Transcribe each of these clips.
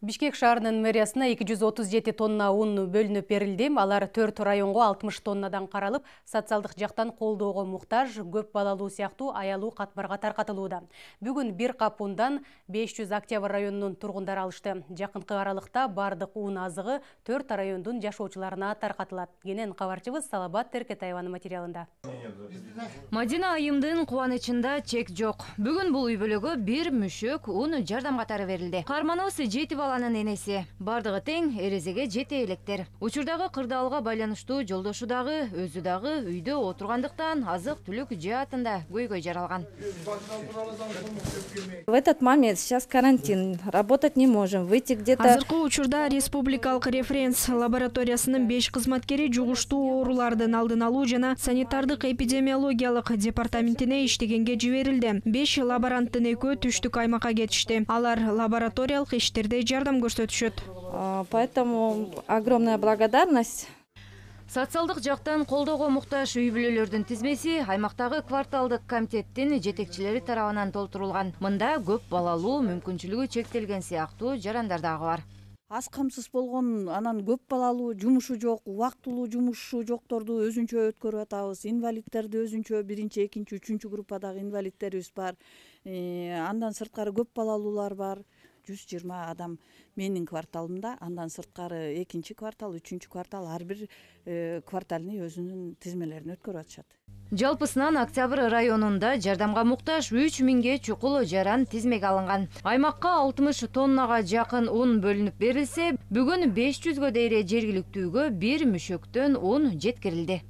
Бишкек шаарынын мэриясына 237 тонна un бөлүнүп берилди. Алар 4 районго 60 тоннадан каралып, социалдык жактан колдоого муктаж, көп балалуу сыяктуу аялуу катмарга таркатылууда. Бүгүн бир кап ундан 500 Октябрь районунун тургундары алышты. Жакынкы аралыкта бардык un азыгы 4 райондун жашоочуларына таркатылат. Кенен кабарчыбыз Салабат Теркетаеванын материалында. Мадина айымдын кубанычында чек жок. Бүгүн бул үй бүлөгө бир мүшөк un жардам катары берилди. Карманыбыз 7 баланын энеси. Бардыгы тең эрезеге жете электер. Учурдагы кырдаалга байланыштуу жолдошу дагы, өзү дагы үйдө отургандыктан азык-түлүк жаатында көйгөй жаралган. В этот момент сейчас карантин, работать не можем, выйти где-то. Азыркы учурда республикалык референс лабораториясынын 5 кызматкери жугуштуу оорулардын алдын алуу жана санитардык эпидемиологиялык департаментине иштегенге жиберилди. 5 лаборанттын экөө түштүк аймакка кетишти. Алар лабораториялык иштерде жардам көрсөтүшөт. Поэтому огромная благодарность. Социалдык жактан колдоого муктаж үй бүлөлөрдүн тизмеси аймактагы кварталдык комитеттин жетекчилери тарабынан толтурулган. Мында көп балалуу, мүмкүнчүлүгү чектелген сыяктуу жарандар дагы бар. Аз камсыз болгон, анан көп балалуу, жумушу жок, убактылуу жумушу жокторду өзүнчө өткөрүп атабыз. Инвалидтерди өзүнчө 1-чи, 2-чи, 3-чү группадагы инвалидтерибиз бар. Андан сырткары көп балалуулар бар. 120 адам менин кварталымда, андан сырткары 2-чи квартал, 3-чү квартал ар бир кварталны өзүнүн тизмелерин өткөрүп атышат. Жалпысынан Октябрь районунда жардамга муктаж 3000 чукул жаран тизмеге алынган. Аймакка 60 тоннага жакын un бөлүнүп берилсе, бүгүн 500гө дейре жергиликтүүгө бир мүшөктөн un жеткирилди.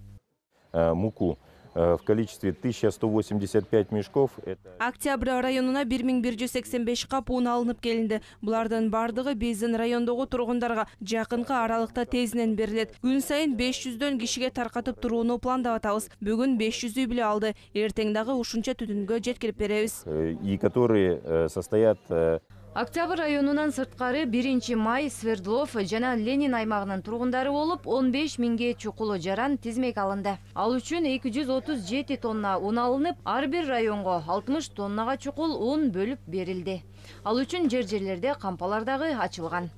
Муку в количестве 1185 мешков. Октябрь районуна 1185 кап un алынып келинди. Булардын бардыгы биздин райондогу тургундарга жакынкы аралыкта тезинен берилет. Күн сайын 500дөн кишиге таркатып турууну пландап атабыз. Бүгүн 500 үй бүлө алды. Эртең дагы ушунча түтүнгө жеткирип беребиз. И которые состоят. Октябрь районунан сырткары 1 май Свердлов жана Ленин аймагынын тургундары болуп 15 000 чукул жаран тизмеге алынды. Ал үчүн 237 тонна un алынып, ар бир районго 60 тоннага чукул un бөлүп берилди. Ал үчүн жерлерде кампалар дагы ачылган.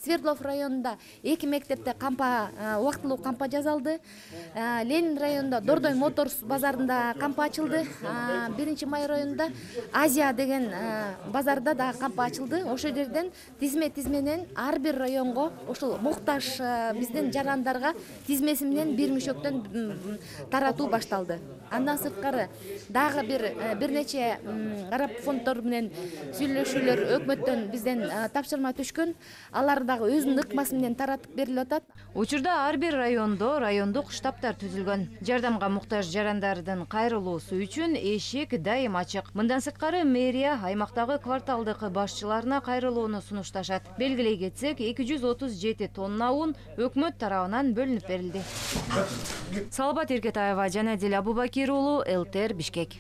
Свердлов районунда 2 мектепте кампа, убактылуу кампа жасалды. Ленин районунда Дордой Моторс базарында кампа ачылды. 1 май районунда Азия деген базарда да кампа ачылды. Ошол жерден тизменен ар бир районго ушул муктаж биздин жарандарга тизмеси менен бир мүшөктөн таратуу башталды. Андан сырткары дагы бир нече араб фонддор менен сүйлөшүүлөр өкмөттөн бизден тапшырма түшкөн. Алар дагы өзүнүн ыкмасы менен таратып берилип атат. Учурда ар бир райондо райондук штабтар түзүлгөн. Жардамга муктаж жарандардын кайрылуусу үчүн эшик дайым ачык. Мындан сырткары мэрия аймактагы кварталдык башчыларына кайрылууну сунушташат. Белгилей кетсек, 237 тонна un өкмөт тарабынан бөлүнүп берилди. Салабат Теркетаева жана Дил Абубакир уулу, ЛТР Бишкек.